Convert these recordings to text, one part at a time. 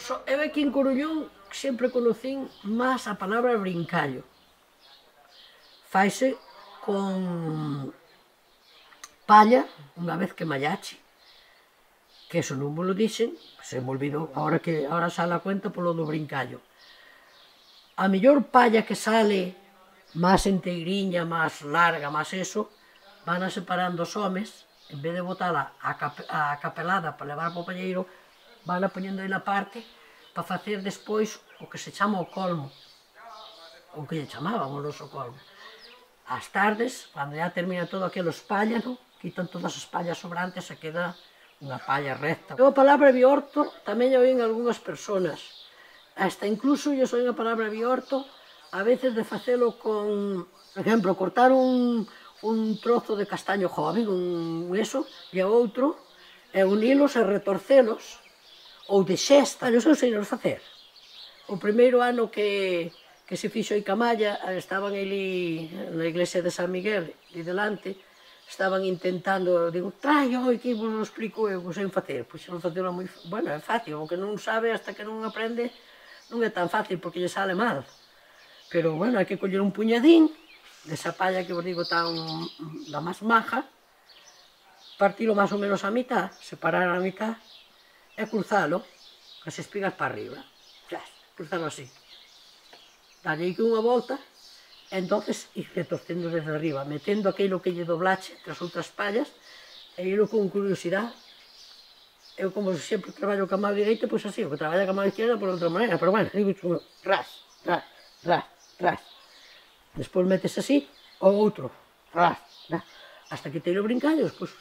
Eu aquí en Coruñón sempre conocín máis a palabra brincallo. Faise con palla, unha vez que mallache, que eso non me lo dixen, se me olvidou, ahora sale a cuenta polo do brincallo. A mellor palla que sale máis enteiriña, máis larga, máis eso, van a separando os homes, en vez de botala a capelada para levar para o palleiro, van a poñendo aí na parte para facer despois o que se chama o colmo, o que lle chamábamos nos o colmo. As tardes, cando ya termina todo aquilo espállano, quitan todas as pallas sobrantes e queda unha palla recta. Eu a palabra biorto tamén a oín algunhas persoas, hasta incluso lle oín a palabra biorto a veces de facelo con, por exemplo, cortar un trozo de castaño joven, e o outro, e unilos e retorcelos, ou de xesta, eu sei nos facer. O primeiro ano que se fixo aí Camalla, estaban ali na iglesia de San Miguel, e delante, estaban intentando, digo, traio, que vos lo explico eu, sei facer. Pois non facelo moi, bueno, é fácil, o que non sabe hasta que non aprende, non é tan fácil, porque lle sale mal. Pero, bueno, hai que coller un puñadín, desa palla que vos digo tan da máis maja, partilo máis ou menos a mitad, separar a mitad, e cruzalo, as espigas para arriba, cruzalo así. Dalle aquí unha volta, e entonces ir retorcendo desde arriba, metendo aquilo que lle doblache entre as outras pallas, e irlo con curiosidade. Eu, como sempre traballo ca mão direita, pois así, o que traballa ca mão izquierda por outra maneira, pero bueno, digo, ras, ras, ras, ras. Despois metes así, o outro, ras, ras, hasta que teiro brincallos, pois,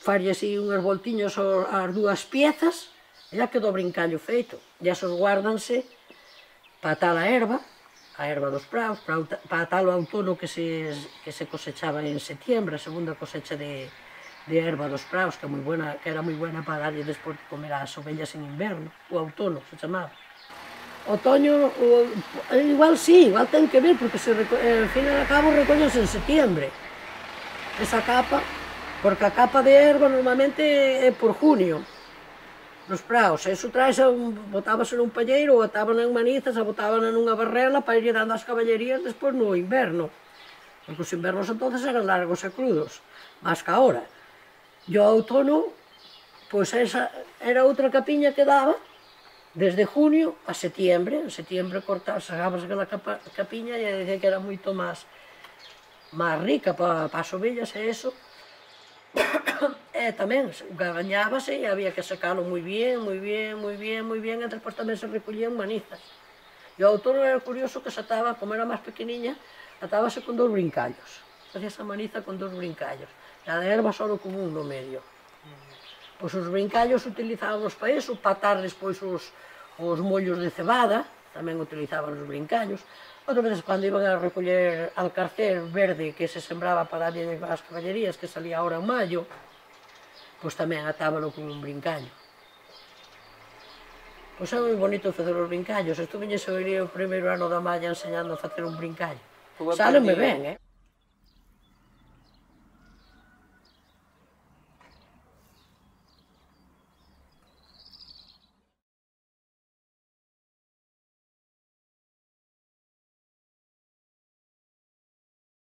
farlle así unhas voltiñas ás dúas piezas, e já quedou o brincallo feito. E esos guárdanse para atar a erva dos praus, para atar o outono que se cosechaba en setiembre, a segunda cosecha de erva dos praus, que era moi buena para darlle despois de comer ás ovellas en inverno, o outono se chamaba. Otoño, igual sí, igual ten que ver, porque ao fin e ao cabo recollense en setiembre. Esa capa, porque a capa de erva normalmente é por junio, nos praos, eso botábase nun palleiro, ou ataban en manizas, a botaban nunha barrela para ir dando as caballerías despois no inverno, porque os invernos entonces eran largos e crudos, máis que agora. E o outono, pois esa era outra capiña que daba, desde junio a setiembre. En setiembre sacábase aquela capiña e dicía que era moito máis rica para as ovellas e eso. E tamén gañábase e había que sacalo moi bien, e despois tamén se recollían manizas. E o outono era curioso que se ataba, como era máis pequeniña, atábase con 2 brincallos. Facía esa maniza con 2 brincallos. E a de erva só con un no medio. Pois os brincallos utilizábamos para iso, para atar despois os mollos de cebada, tamén utilizaban os brincallos. Outras veces, cando iban a recoller alcarcer verde que se sembraba para darlle as caballerías, que salía ahora en maio, pois tamén atábalo con un brincallo. Pois é moi bonito facer os brincallos. Estuveñes o primeiro ano da malla enseñando a facer un brincallo. Sálenme ben,